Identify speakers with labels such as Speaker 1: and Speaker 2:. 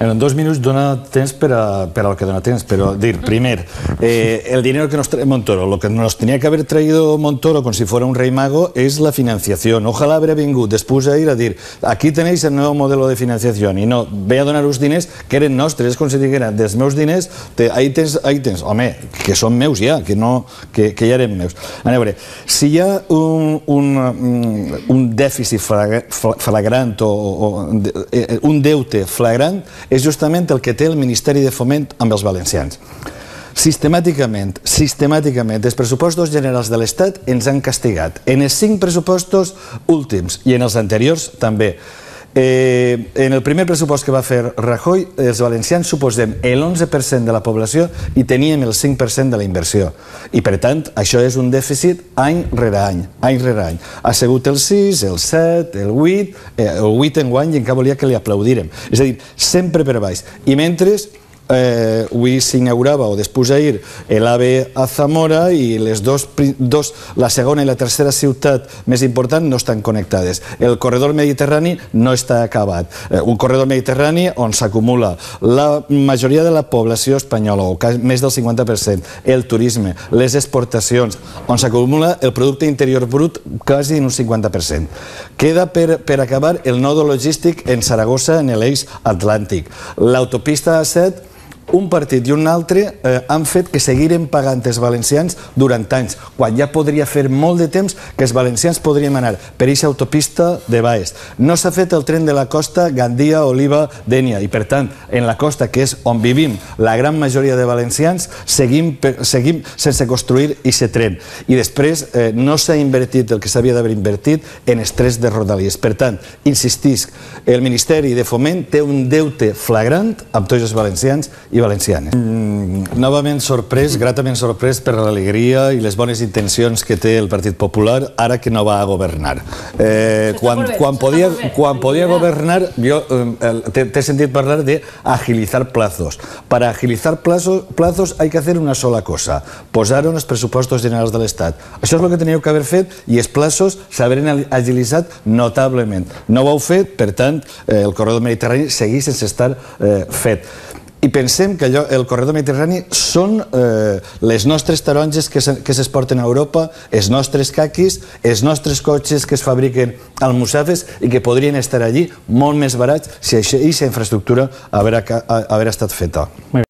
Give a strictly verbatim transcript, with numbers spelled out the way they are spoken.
Speaker 1: En dos minuts dona temps per al que dona temps, però dir, primer, el dinero que nos trae Montoro, lo que nos tenía que haber traído Montoro con si fuera un rey mago es la financiación. Ojalá haver vingut després a ir a dir, aquí tenéis el nuevo modelo de financiación, i no, ve a donar uns diners que eren nostres, és com si digueren, dels meus diners, ahí tens, ahí tens, home, que són meus ja, que ja eren meus. A veure, si hi ha un dèficit flagrant o un deute flagrant, és justament el que té el Ministeri de Foment amb els valencians. Sistemàticament, sistemàticament, els pressupostos generals de l'Estat ens han castigat. En els cinc pressupostos últims i en els anteriors també. En el primer pressupost que va fer Rajoy, els valencians suposem l'onze per cent de la població i teníem el cinc per cent de la inversió. I per tant, això és un dèficit any rere any, any rere any. Ha sigut el sis, el set, el vuit, el vuit enguany i encara volia que li aplaudirem. És a dir, sempre per baix. I mentre avui s'inaugurava o després d'ahir l'AVE a Zamora i les dos, la segona i la tercera ciutat més important no estan connectades. El corredor mediterrani no està acabat. Un corredor mediterrani on s'acumula la majoria de la població espanyola, o més del cinquanta per cent, el turisme, les exportacions, on s'acumula el producte interior brut quasi en un cinquanta per cent. Queda per acabar el nodo logístic en Saragossa, en l'eix atlàntic. L'autopista A set, un partit i un altre han fet que seguirem pagant els valencians durant anys, quan ja podria fer molt de temps que els valencians podríem anar per aquesta autopista de Bages. No s'ha fet el tren de la costa Gandia, Oliva, Dénia, i per tant, en la costa, que és on vivim la gran majoria de valencians, seguim sense construir aquest tren. I després no s'ha invertit el que s'havia d'haver invertit en els trens de Rodalies. Per tant, insistisc, el Ministeri de Foment té un deute flagrant amb tots els valencians i valencianes. Novament sorprès, gratament sorprès per l'alegria i les bones intencions que té el Partit Popular ara que no va a governar. Quan podia governar, jo t'he sentit parlar de agilizar plazos. Para agilizar plazos hay que hacer una sola cosa, posar en els pressupostos generals de l'Estat. Això és el que teníeu que haver fet i els plazos s'haurien agilitzat notablement. No ho heu fet, per tant, el corredor mediterrani segueix sense estar fet. I pensem que el corredor mediterrani són les nostres taronges que s'exporten a Europa, els nostres caquis, els nostres cotxes que es fabriquen al Musafes i que podrien estar allí molt més barats si aquesta infraestructura haver estat feta.